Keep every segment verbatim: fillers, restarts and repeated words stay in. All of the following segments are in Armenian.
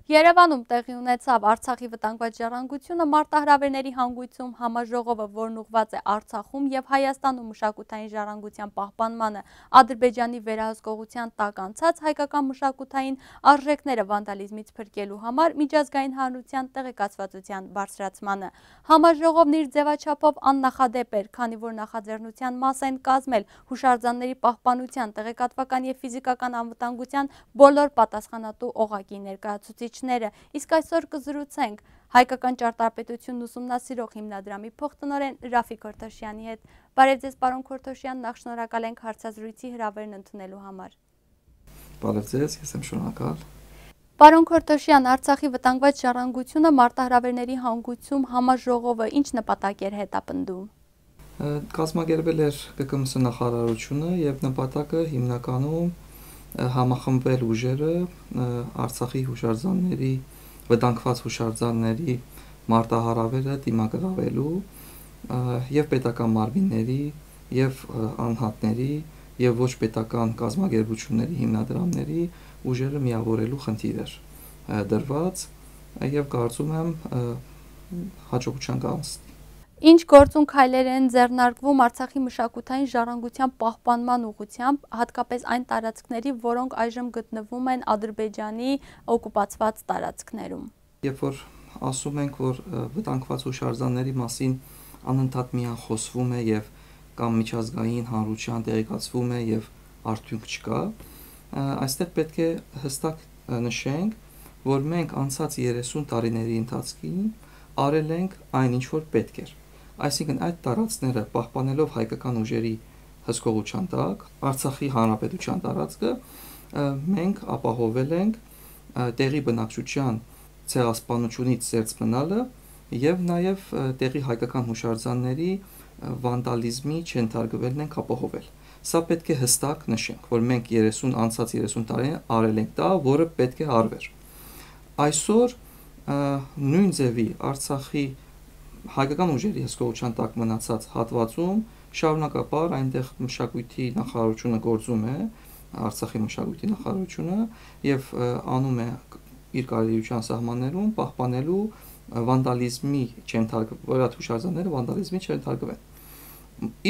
Երևանում տեղի ունեցավ Արցախի վտանգված ժառանգությունը մարտահրավերների հանգույցում համաժողովը, որն ուղղված է Արցախում և Հայաստանում մշակութային ժառանգության պահպանմանը Ադրբեջանի վերահսկողության տակ անցած հայկական մշակութային արժեքները վանդալիզմից փրկելու համար միջազգային հանրության տեղեկացվածության բարձրացմանը։ Համաժողովն իր ձևաչափով աննախադեպ էր, քանի որ նախաձեռնության մաս են կազմել հուշարձանների պահպանության, տեղեկատվական և ֆիզիկական անվտանգության բոլոր պատասխանատու օղակի ներկայացուցիչ Իսկ այսօր կզրուցենք Հայկական ճարտարապետությունն ուսումնասիրող հիմնադրամի փոխտնօրեն Ռաֆիկ Քորթոշյանի հետ։ Բարև ձեզ, պարոն Քորթոշյան, նախ շնորհակալ ենք հարցազրույցի հրավերն ընդունելու համար։ Բարև ձեզ, ես եմ շնորհակալ։ Պարոն Քորթոշյան, Արցախի վտանգված ժառանգությունը մարտահրավերների հանգույցում համաժողովը ինչ նպատակ էր հետապնդում։ Կազմակերպել էր ԿԿՄՍ նախարարությունը եւ նպատակը հիմնականում համախմբել ուժերը Արցախի հուշարձանների, վտանգված հուշարձանների մարտահրավերը դիմագրավելու եւ պետական մարմինների եւ անհատների եւ ոչ պետական կազմակերպությունների հիմնադրամների ուժերը միավորելու խնդիր էր դրված եւ կարծում եմ հաջողության կհասնի։ Ինչ գործուն քայլեր են ձեռնարկվում Արցախի մշակութային ժառանգության պահպանման ուղղությամբ, հատկապես այն տարածքների, որոնք այժմ գտնվում են Ադրբեջանի օկուպացված տարածքներում։ Երբ որ ասում ենք, որ վտանգված հուշարձանների մասին անընդհատ միան խոսվում է եւ կամ միջազգային հանրության տեղեկացվում է եւ արդյունք չկա, այստեղ պետք է հստակ նշենք, որ մենք անցած երեսուն տարիների ընթացքում արել ենք այն, ինչ որ պետք էր։ Այսինքն այդ տարածքները պահպանելով հայկական ուժերի հսկողության տակ, Արցախի հանրապետության տարածքը մենք ապահովել ենք տեղի բնակչության ցեղասպանությունից զերծ մնալը եւ նաեւ տեղի հայկական հուշարձանների վանդալիզմի չընթարգվելն ենք ապահովել։ Սա պետք է հստակ նշենք, որ մենք երեսուն անցած երեսուն տարին արել ենք դա, որը պետք է արվեր։ Այսօր նույն ձևի Արցախի հայկական ուժերի հսկողության տակ մնացած հատվածում շարունակապար այնտեղ մշակույթի նախարարությունը գործում է, Արցախի մշակույթի նախարարությունը եւ անում է իր կարողության սահմաններում պահպանելու վանդալիզմի չընթարգվելու հուշարձանները վանդալիզմի չընթարգվեն։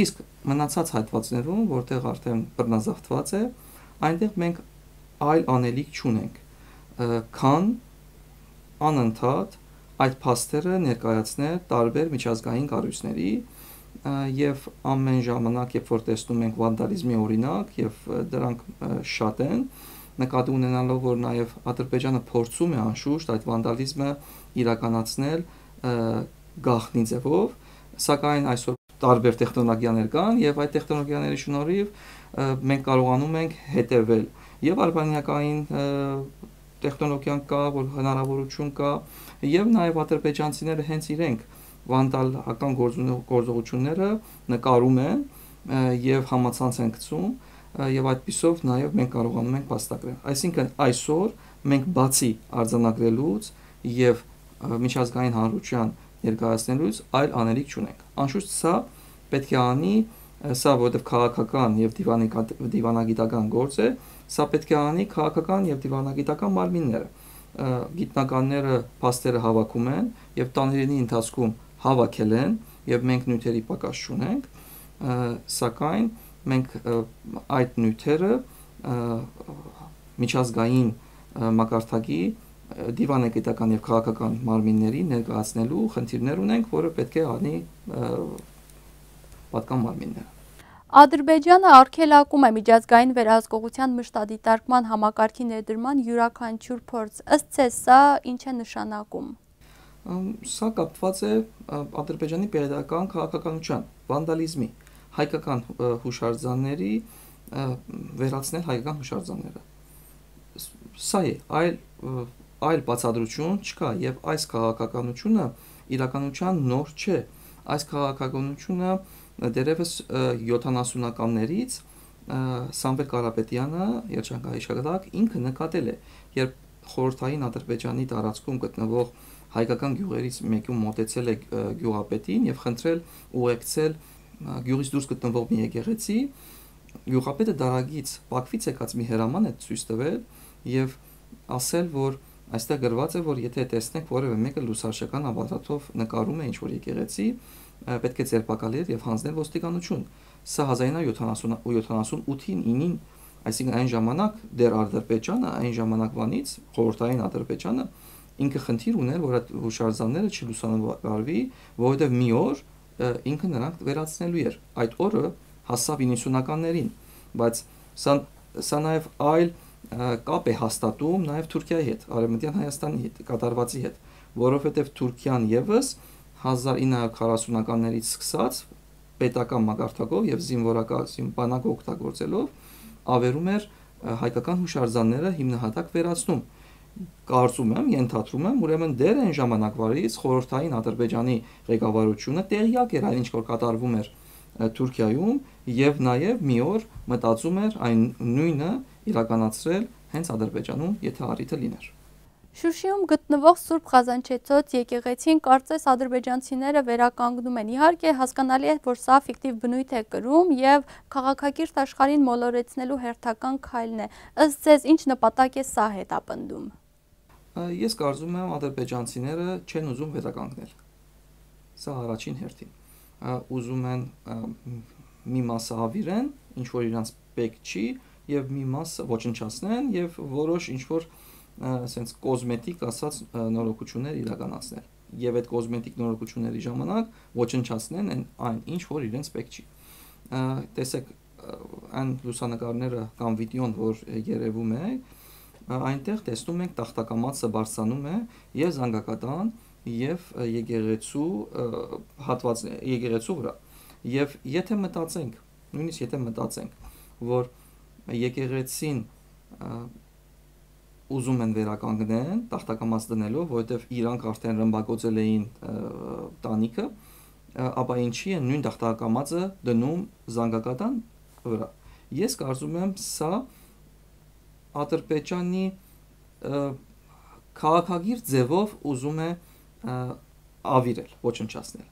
Իսկ մնացած հատվածներում, որտեղ արդեն բռնազավթված է, այնտեղ մենք այլ անելիք չունենք, քան անընդհատ այդ փաստերը ներկայացնել տարբեր միջազգային կառույցների եւ ամեն ժամանակ, երբ որ տեսնում ենք վանդալիզմի օրինակ եւ դրանք շատ են, նկատի ունենալով, որ նաեւ Ադրբեջանը փորձում է անշուշտ այդ վանդալիզմը իրականացնել գաղտնի ձևով, սակայն այսօր տարբեր տեխնոլոգիաներ կան եւ այդ տեխնոլոգիաների շնորհիվ մենք կարողանում ենք հետեւել եւ արբանյակային տեխնոլոգիան կա, որ հնարավորություն կա եւ նաեւ ադրբեջանցիները հենց իրենք վանդալական գործողությունները նկարում են եւ համացանց են գցում եւ այդպիսով նաեւ մենք կարողանում ենք փաստագրել։ Այսինքն այսօր մենք բացի արձանագրելուց եւ միջազգային հանրության ներկայացնելուց այլ անելիք չունենք։ Անշուշտ սա պետք է անի, սա որովհետեւ քաղաքական եւ դիվանագիտական գործ է, սա պետք է անի քաղաքական եւ դիվանագիտական մարմինները։ Գիտնականները փաստերը հավաքում են եւ տաների ընթացքում հավաքել են եւ մենք նյութերի պակաս չունենք, սակայն մենք այդ նյութերը միջազգային մակարդակի դիվանագիտական եւ քաղաքական մարմինների ներկայացնելու խնդիրներ ունենք, որը պետք է անի պատկան մարմինները։ Ադրբեջանը արգելակում է միջազգային վերահսկողության մշտադիտարկման համակարգի ներդրման յուրաքանչյուր փորձ։ Ըստ ձեզ սա ինչ է նշանակում։ Սա կապված է Ադրբեջանի պետական քաղաքականության, վանդալիզմի, հայկական հուշարձանների վերացնել հայկական հուշարձանները։ Սա է, այլ այլ բացատրություն չկա եւ այս քաղաքականությունը իրականության նոր չէ։ Այս քաղաքականությունը դերևս յոթանասունականներից Սամվել Կարապետյանը երջանկահիշատակ ինքը նկատել է, երբ խորհրդային Ադրբեջանի տարածքում գտնվող հայկական գյուղերից մեկում մոտեցել է գյուղապետին եւ խնդրել ուղեկցել գյուղից դուրս գտնվող մի եկեղեցի, գյուղապետը դարագից Բաքվից եկած մի հրաման է ցույց տվել եւ ասել, որ այստեղ գրված է, որ եթե տեսնեք որևէ մեկը լուսարշական ապարատով նկարում է ինչ-որ եկեղեցի, պետք է ձերբակալել եւ հանձնել ոստիկանություն։ Սա հազար իննսուն ութին ինին, այսինքն այն ժամանակ դեռ Ադրբեջանը, այն ժամանակվանից խորհրդային Ադրբեջանը ինքը խնդիր ուներ, որ այդ հուշարձանները չլուսանկարվի, որովհետեւ մի օր ինքը նրանք վերացնելու էր։ Այդ օրը հասավ իննսունականներին, բայց սա սա նաեւ այլ կապ է հաստատում նաև Թուրքիայի հետ, Արևմտյան Հայաստանի հետ, կատարվածի հետ, որովհետև Թուրքիան եւս հազար ինը հարյուր քառասունականներից սկսած պետական մակարդակով եւ զինվորական բանակ օգտագործելով ավերում էր հայկական հուշարձանները հիմնահատակ վերացնում։ Կարծում եմ, ենթադրում եմ, ուրեմն դեռ այն ժամանակվարից խորհրդային Ադրբեջանի ղեկավարությունը տեղյակ էր այն ինչ որ կատարվում էր Թուրքիայում եւ նաեւ մի օր մտածում էր այն նույնը իրականացրել հենց Ադրբեջանում, եթե առիթը լիներ։ Շուշիում գտնվող Սուրբ Խազանչեցոց եկեղեցին կարծես ադրբեջանցիները վերականգնում են։ Իհարկե հասկանալի է, որ սա ֆիկտիվ բնույթ է կրում եւ քաղաքակիրթ աշխարհին մոլորեցնելու հերթական քայլն է։ Ըստ ձեզ ինչ նպատակ է սա հետապնդում։ Ես կարծում եմ ադրբեջանցիները չեն ուզում վերականգնել։ Սա առաջին հերթին։ Ուզում են մի մասը ավիրեն, ինչ որ իրանց պետք չի, եւ մի մասը ոչնչացնեն եւ որոշ ինչ որ ասենց կոսմետիկ ասած նորոգություններ իրականացնել եւ այդ կոսմետիկ նորոգությունների ժամանակ ոչնչացնեն այն ինչ որ իրենց պետք չի։ Տեսեք այն լուսանկարները կամ վիդեոն որ երևում է, այնտեղ տեսնում ենք տախտակամածը բարձրանում է եւ զանգակատան եւ եկեղեցու հատված եկեղեցու վրա եւ եթե մտածենք, նույնիսկ եթե մտածենք, որ եկեղեցին ուզում են վերականգնեն տախտակամաց դնելով, որովհետև իրանք արդեն ռմբակոծել էին տանիքը, ապա ինչի են նույն տախտակամածը դնում զանգակատան վրա։ Ես կարծում եմ սա Ադրբեջանի քաղաքագիր ձևով ուզում է ավիրել, ոչնչացնել։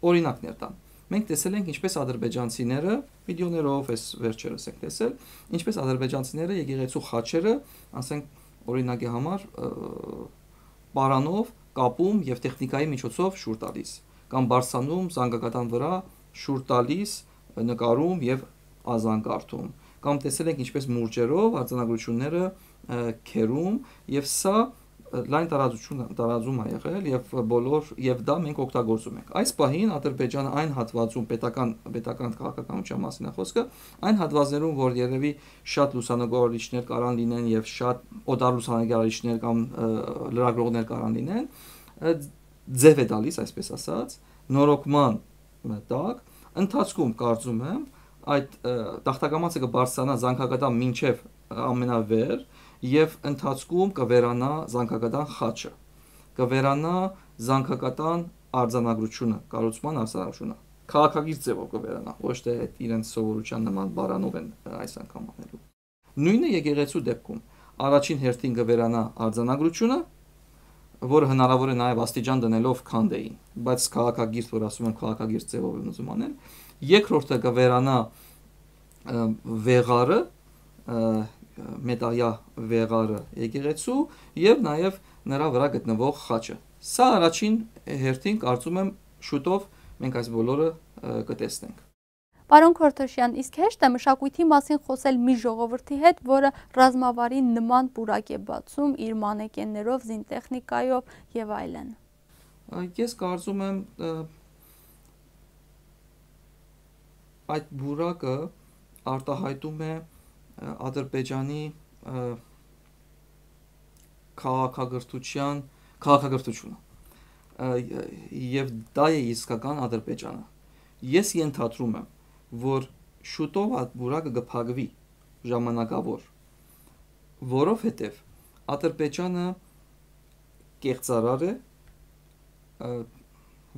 Օրինակներ տան։ Մենք տեսել ենք ինչպես ադրբեջանցիները վիդեոներով էս վերջերս ենք տեսել, ինչպես ադրբեջանցիները եկեղեցու խաչերը, ասենք օրինակի համար պարանով կապում եւ տեխնիկայի միջոցով շուր տալիս, կամ բարձանում զանգակատան վրա շուր տալիս, նկարում եւ ազանգարդում, կամ տեսել ենք ինչպես մուրճերով արձանագրությունները քերում եւ սա լայն տարածություն տարածում է եղել եւ բոլոր եւ դա մենք օգտագործում ենք։ Այս պահին Ադրբեջանը այն հատվածում պետական պետական քաղաքականության մասին է խոսքը, այն հատվածներում, որ երևի շատ լուսանկարիչներ կարան լինեն եւ շատ օտար լուսանկարիչներ կամ լրագրողներ կարան լինեն, ձև է տալիս, այսպես ասած, նորոգման տակ, ընթացքում կարծում եմ այդ տախտակամածը կբարձրանա զանգակատան մինչև ամենավեր եւ ընթացքում կվերանա զանգակատան խաչը, կվերանա զանգակատան արձանագրությունը, կառուցման արձանագրությունը, քաղաքագիր ձևով կվերանա, ոչ թե այդ իրենց սովորության նման բարանով են այս անգամ անելու։ Նույնը եկեղեցու դեպքում առաջին հերթին կվերանա արձանագրությունը, որը հնարավոր է նաեւ աստիճան դնելով քանդեին, բայց քաղաքագիր, որ ասում են քաղաքագիր ձևով են ուզում անել, երկրորդը կվերանա վեղարը, մետաղյա վեղարը եկեղեցու եւ նաեւ նրա վրա գտնվող խաչը։ Սա առաջին հերթին կարծում եմ շուտով մենք այս բոլորը կտեսնենք։ Պարոն Քորթոշյան, իսկ հեշտ է մշակույթի մասին խոսել մի ժողովրդի հետ, որը ռազմավարի նման պուրակ է բացում իր մանեկեններով, զինտեխնիկայով եւ այլն։ Ես կարծում եմ այդ բուրակը արտահայտում է Ադրբեջանի քաղաքագրթության քաղաքագրթությունը եւ դա է իսկական Ադրբեջանը։ Ես ենթադրում եմ, որ շուտով այդ բուրակը կփակվի ժամանակավոր, որովհետեւ Ադրբեջանը կեղծարար է,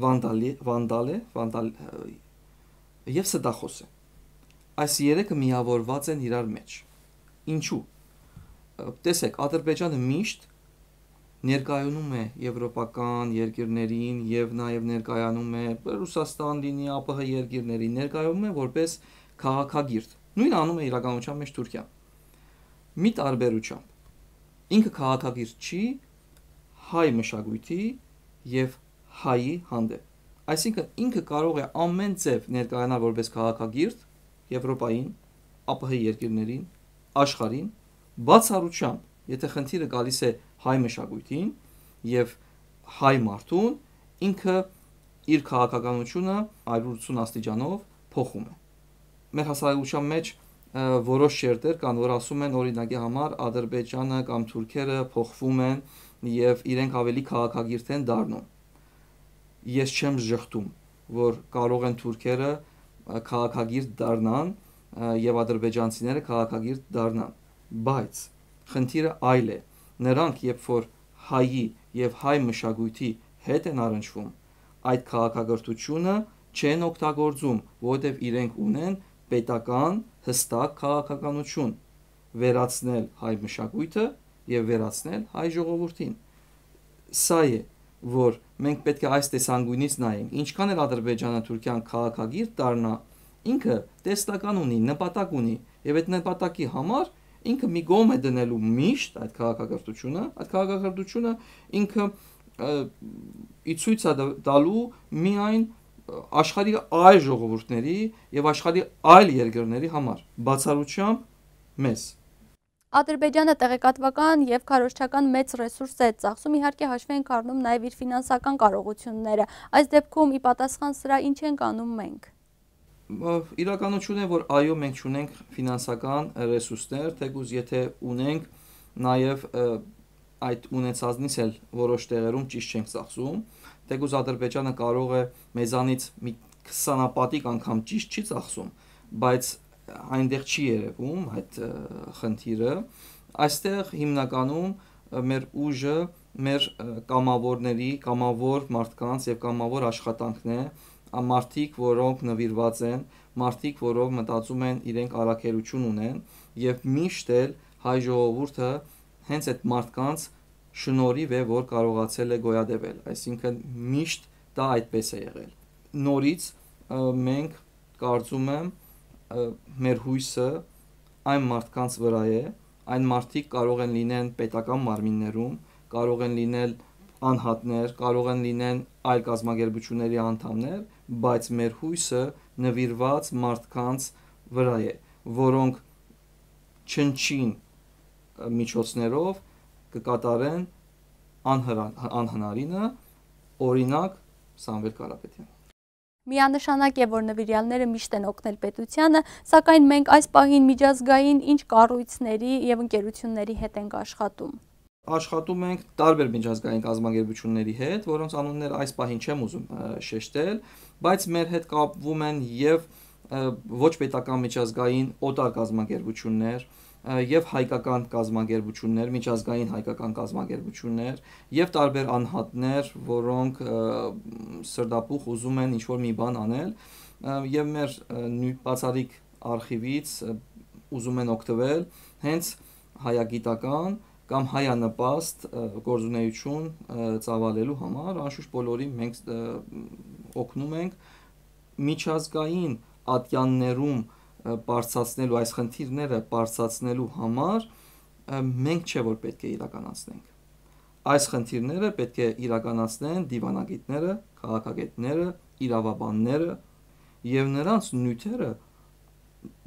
վանդալի, վանդալ է, վանդալ եւ ստախոս է։ Այս երեքը միավորված են իրար մեջ։ Ինչու՞։ Տեսեք, Ադրբեջանը միշտ ներկայանում է եվրոպական երկրներին եւ նաեւ ներկայանում է Ռուսաստան լինի, ԱՊՀ երկրներին, ներկայանում է որպես քաղաքագիրտ։ Նույնը անում է իրականության մեջ Թուրքիան։ Մի տարբերությամբ ինքը քաղաքագիրտ չի հայ մշակույթի եւ հայի հանդեպ։ Այսինքն ինքը կարող է ամեն ձև ներկայանալ որպես քաղաքագիրտ Եվրոպային, ԱՊՀ երկրներին, աշխարհին, բացառությամբ, եթե խնդիրը գալիս է հայ մշակույթին եւ հայ մարդուն, ինքը իր քաղաքականությունը հարյուր ութսուն աստիճանով փոխում է։ Մեր հասարակության մեջ որոշ շերտեր կան, որ ասում են օրինակի համար Ադրբեջանը կամ թուրքերը փոխվում են եւ իրենք ավելի քաղաքագիրտ են դառնում։ Ես չեմ ժխտում, որ կարող են թուրքերը քաղաքագիրտ դառնան եւ ադրբեջանցիները քաղաքագիրտ դառնան, բայց խնդիրը այլ է։ Նրանք երբ որ հայի եւ հայ մշակույթի հետ են առնչվում, այդ քաղաքագործությունը չեն օգտագործում, որովհետեւ իրենք ունեն պետական հստակ քաղաքականություն վերացնել հայ մշակույթը եւ վերացնել հայ ժողովրդին։ Սա է, որ մենք պետք է այս տեսանկյունից նայենք, ինչքան էլ Ադրբեջանը Թուրքիան քաղաքագիրտ դառնա, ինքը տեսլական ունի, նպատակ ունի եւ այդ նպատակի համար ինքը մի կողմ է դնելու միշտ այդ քաղաքագործությունը, այդ քաղաքագործությունը ինքը ի ցույց է տալու միայն աշխարհի այլ ժողովուրդների եւ աշխարհի այլ երկրների համար, բացառությամբ մեզ։ Ադրբեջանը տեղեկատվական եւ քարոզչական մեծ ռեսուրս է ծախսում, իհարկե հաշվի ենք առնում նաեւ իր ֆինանսական կարողությունները։ Այս դեպքում ի պատասխան սրա ինչ ենք անում մենք։ Իրականություն է, որ այո, մենք ունենք ֆինանսական ռեսուրսներ, թեկուզ եթե ունենք նաեւ այդ ունեցածնից էլ որոշ տեղերում ճիշտ չենք ծախսում, թեկուզ Ադրբեջանը կարող է մեզանից մի քսանապատիկ անգամ ճիշտ չի ծախսում, բայց այնտեղ չի երևում այդ խնդիրը։ Այստեղ հիմնականում մեր ուժը մեր կամավորների, կամավոր մարդկանց եւ կամավոր աշխատանքն է, մարդիկ, որոնք նվիրված են, մարդիկ, որոնք մտածում են իրենք առաքելություն ունեն եւ միշտ էլ հայ ժողովուրդը հենց այդ մարդկանց շնորհիվ է, որ կարողացել է գոյատևել, այսինքն միշտ դա այդպես է եղել։ Նորից մենք կարծում եմ մեր հույսը այն մարդկանց վրա է, այն մարդիկ կարող են լինեն պետական մարմիններում, կարող են լինել անհատներ, կարող են լինեն այլ կազմակերպությունների անդամներ, բայց մեր հույսը նվիրված մարդկանց վրա է, որոնք չնչին միջոցներով կկատարեն անհնարինը, օրինակ Սամվել Կարապետյան։ Միանշանակ է, որ նվիրյալները միշտ են օգնել պետությանը, սակայն մենք այս պահին միջազգային ինչ կառույցների եւ ընկերությունների հետ ենք աշխատում։ Աշխատում ենք տարբեր միջազգային կազմակերպությունների հետ, որոնց անուններ այս պահին չեմ ուզում շեշտել, բայց մեր հետ կապվում են եւ ոչ պետական միջազգային օտար կազմակերպություններ, եւ հայկական կազմակերպություններ, միջազգային հայկական կազմակերպություններ եւ տարբեր անհատներ, որոնք սրտապուխ ուզում են ինչ-որ մի բան անել եւ մեր բացառիկ արխիվից ուզում են օգտվել հենց հայագիտական կամ հայանպաստ գործունեություն ծավալելու համար, անշուշտ բոլորին մենք օգնում ենք միջազգային ատյաններում բարձրացնելու այս խնդիրները բարձրացնելու համար մենք չէ որ պետք է իրականացնենք։ Այս խնդիրները պետք է իրականացնեն դիվանագետները, քաղաքագետները, իրավաբանները եւ նրանց նյութերը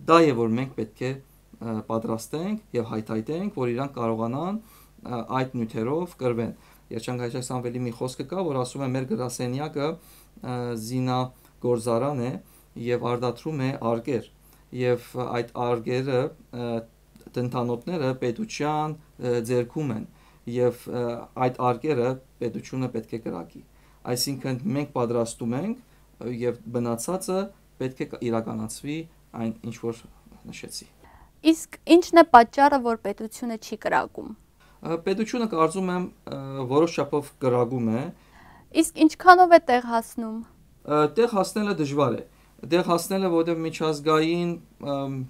դա է որ մենք պետք է պատրաստենք եւ հայտարարենք, որ իրանք կարողանան այդ նյութերով կրվեն։ Երջանկայք Սամվելի մի խոսքը կա, որ ասում է մեր գրասենյակը զինագործարան է եւ արդատրում է արգեր եւ այդ արգերը տնտանոթները պետության ձեռքում են եւ այդ արգերը պետությունը պետք է կրակի։ Այսինքն մենք պատրաստում ենք եւ բնացածը պետք է իրականացվի այն ինչ որ նշեցի։ Իսկ ինչն է պատճառը, որ պետությունը չի կրակում։ Պետությունը կարծում եմ որոշ չափով կրակում է։ Իսկ ինչքանով է տեղ հասնում։ Տեղ հասնելը դժվար է։ Տեղ հասնելը, որովհետև միջազգային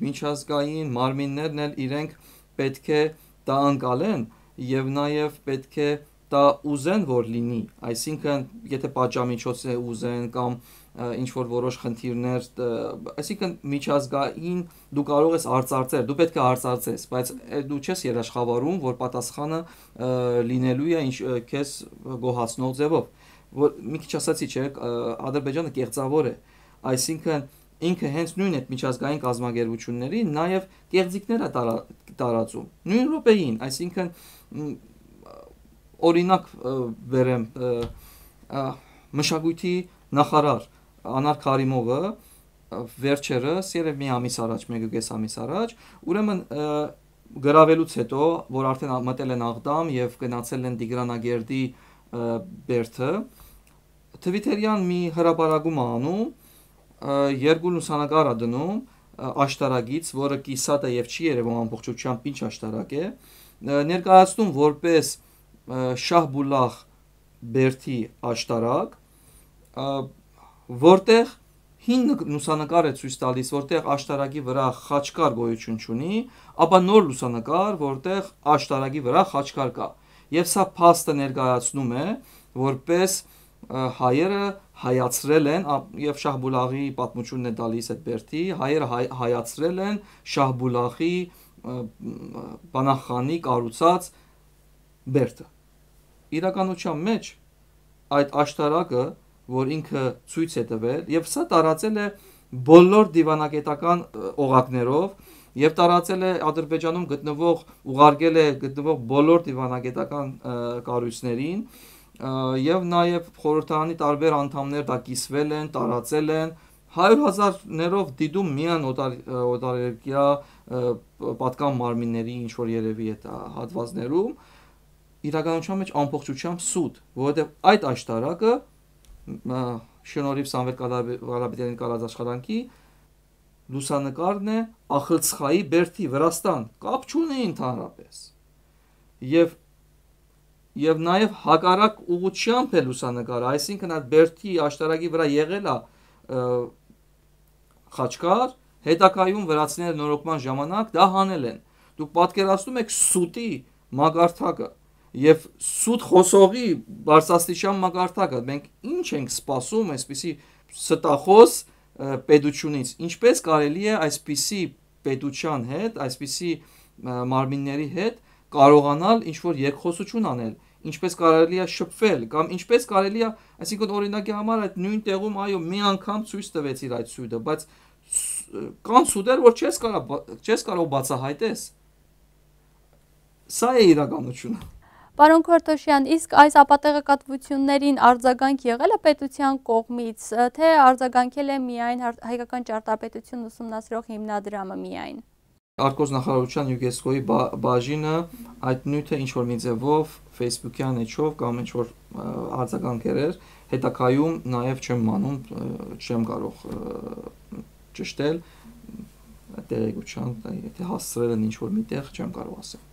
միջազգային մարմիններն էլ իրենք պետք է դա անցալեն եւ նաեւ պետք է դա ուզեն որ լինի, այսինքն եթե պատժամիջոց է ուզեն կամ ինչ որ որոշ խնդիրներ, այսինքն միջազգային դու կարող ես արծարծել, դու պետք է արծարծես, բայց դու չես երաշխավորում, որ պատասխանը լինելու է ինչ քեզ գոհացնող ձևով, որ մի քիչ ասացի, չէ, Ադրբեջանը կեղծավոր է, այսինքն ինքը հենց նույն այդ միջազգային կազմակերպությունների նաև կեղծիքներ է տարածում, նույն րոպեին, այսինքն օրինակ բերեմ մշակույթի նախարար Անար Քարիմովը վերջերս երևի մի ամիս առաջ, մեկուկես ամիս առաջ, ուրեմն գրավելուց հետո, որ արդեն մտել են Աղդամ եւ գնացել են Տիգրանագերդի բերդը, Թվիտերյան մի հրապարակում անում, երկու լուսանկար է դնում աշտարակից, որը կիսատ է եւ չի երևում ամբողջությամբ ինչ աշտարակ է, ներկայացնում որպես Շահբուլախ բերդի աշտարակ, որտեղ հին լուսանկար է ցույց տալիս, որտեղ աշտարակի վրա խաչկար գոյություն չունի, ապա նոր լուսանկար, որտեղ աշտարակի վրա խաչկար կա։ Եվ սա փաստը ներկայացնում է, որպես հայերը հայացրել են, եւ Շահբուլախի պատմությունն է տալիս այդ բերդի, հայերը հայացրել են Շահբուլախի բանախանի կառուցած բերդը։ Իրականության մեջ այդ աշտարակը, որ ինքը ցույց է տվել, եւ սա տարածել է բոլոր դիվանագիտական օղակներով, եւ տարածել է Ադրբեջանում գտնվող, ուղարկել է գտնվող բոլոր դիվանագիտական կառույցներին, եւ նաեւ խորհրդարանի տարբեր անդամներ դա կիսվել են, տարածել են, հարյուր հազարներով դիտում միան օտարերկրյա պատկան մարմինների ինչ որ երևի այդ հատվածներում, իրականության մեջ ամբողջությամբ սուտ, որովհետեւ այդ աշտարակը շնորհիվ Սամվել Կարապետյանի կարած աշխատանքի լուսանկարն է Ախլցխայի բերդի Վրաստան, կապ չունի ընդհանրապես։ Եվ եւ նաեւ հակառակ ուղղությամբ է լուսանկարը, այսինքն այդ բերդի աշտարակի վրա եղել է խաչկար, հետակայում վրացիները նորոգման ժամանակ դա հանել են։ Դուք պատկերացնում եք սուտի մագարտակը եւ սուտ խոսողի բարձրաստիճան մագարտակը, մենք ինչ ենք սպասում այսպիսի ստախոս պետությունից, ինչպես կարելի է այսպիսի պետության հետ, այսպիսի մարմինների հետ կարողանալ ինչ որ երկխոսություն անել, ինչպես կարելի է շփվել, կամ ինչպես կարելի է, այսինքն օրինակի համար այդ նույն տեղում այո մի անգամ ցույց տվեցիր այդ սուտը, բայց կան սուտեր, որ չես կարող չես կարող բացահայտես։ Սա է իրականությունը։ Պարոն Քորթոշյան, իսկ այս ապատեղեկատվություններին արձագանք եղել է պետության կողմից, թե արձագանքել է միայն հայկական ճարտարապետություն ուսումնասիրող հիմնադրամը միայն։ Արտգործնախարարության ՅՈՒՆԵՍԿՕ-ի բաժինը այդ նյութը ինչ որ մի ձևով Facebook-յան էջով կամ ինչ որ արձագանքեր էր, հետակայում նաև չեմ մանում, չեմ կարող ճշտել տեղեկության, եթե հասցրել են ինչ որ միտեղ, չեմ կարող ասել։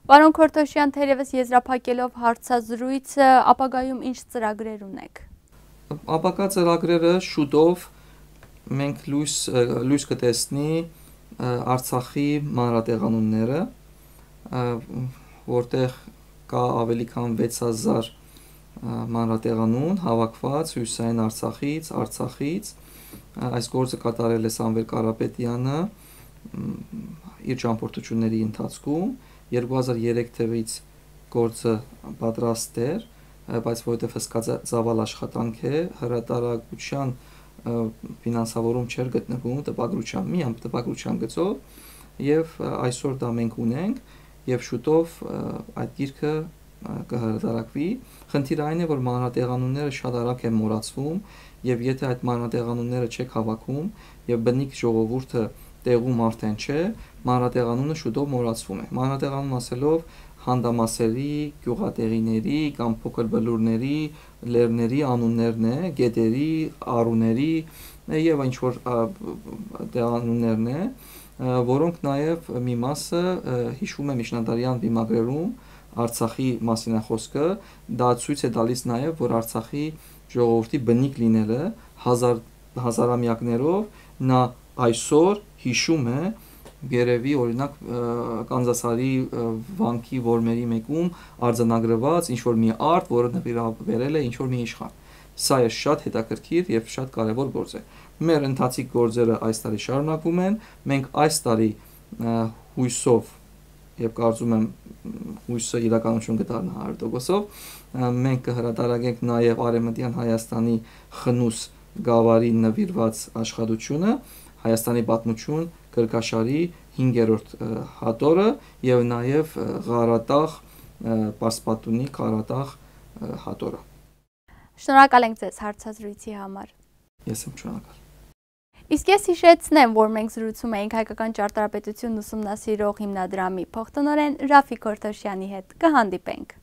Պարոն Քորթոշյան, թերևս եզրափակելով հարցազրույցը, ապագայում ինչ ծրագրեր ունեք։ Ապագա ծրագրերը շուտով մենք լույս լույս կտեսնի Արցախի մանրատեղանունները, որտեղ կա ավելի քան վեց հազար մանրատեղանուն հավաքված հյուսային Արցախից, Արցախից, այս գործը կատարել է Սամվել Կարապետյանը իր ճամփորդությունների ընթացքում, երկու հազար երեք թվականից գործը պատրաստ էր, բայց որովհետև հսկա ծավալ աշխատանք է, հրատարակության ֆինանսավորում չէր գտնվում տպագրության, միայն տպագրության գծով, եւ այսօր դա մենք ունենք, եւ շուտով այդ գիրքը կհրատարակվի։ Խնդիրը այն է, որ մանրատեղանունները շատ արագ են մոռացվում, եւ եթե այդ մանրատեղանունները չեք հավաքում, եւ բնիկ ժողովուրդը տեղում արդեն չէ, մանրատեղանունը շուտով մոռացվում է։ Մանրատեղանուն ասելով հանդամասերի, գյուղատեղիների կամ փոքր բլուրների, լեռների անուններն է, գետերի, առուների եւ ինչ որ տեղանուններն է, որոնք նաեւ մի մասը հիշվում է միջնադարյան վիմագրերում Արցախի մասին է խոսքը, դա ցույց է տալիս նաեւ, որ Արցախի ժողովրդի բնիկ լինելը հազար հազարամյակներով նա այսօր հիշում է երևի օրինակ Կանզասարի վանքի որմերի մեկում արձանագրված ինչ որ մի արտ, որը նվիրաբերել է ինչ որ մի իշխան։ Սա է շատ հետաքրքիր եւ շատ կարեւոր գործ է։ Մեր ընթացիկ գործերը այս տարի շարունակվում են։ Մենք այս տարի հույսով եւ կարծում եմ հույսը իրականություն կդառնա հարյուր տոկոսով մենք կհրատարակենք նաեւ Արևմտյան Հայաստանի խնուս գավառի նվիրված աշխատությունը Հայաստանի պատմություն գրքաշարի հինգերորդ հատորը եւ նաեւ Ղարատաղ Պարսպատունի Ղարատաղ հատորը։ Շնորհակալ ենք ձեզ հարցազրույցի համար։ Ես եմ շնորհակալ։ Իսկ ես հիշեցնեմ, որ մենք զրուցում էինք հայկական ճարտարապետությունն ուսումնասիրող հիմնադրամի փոխտնօրեն Ռաֆիկ Քորթոշյանի հետ։ Կհանդիպենք։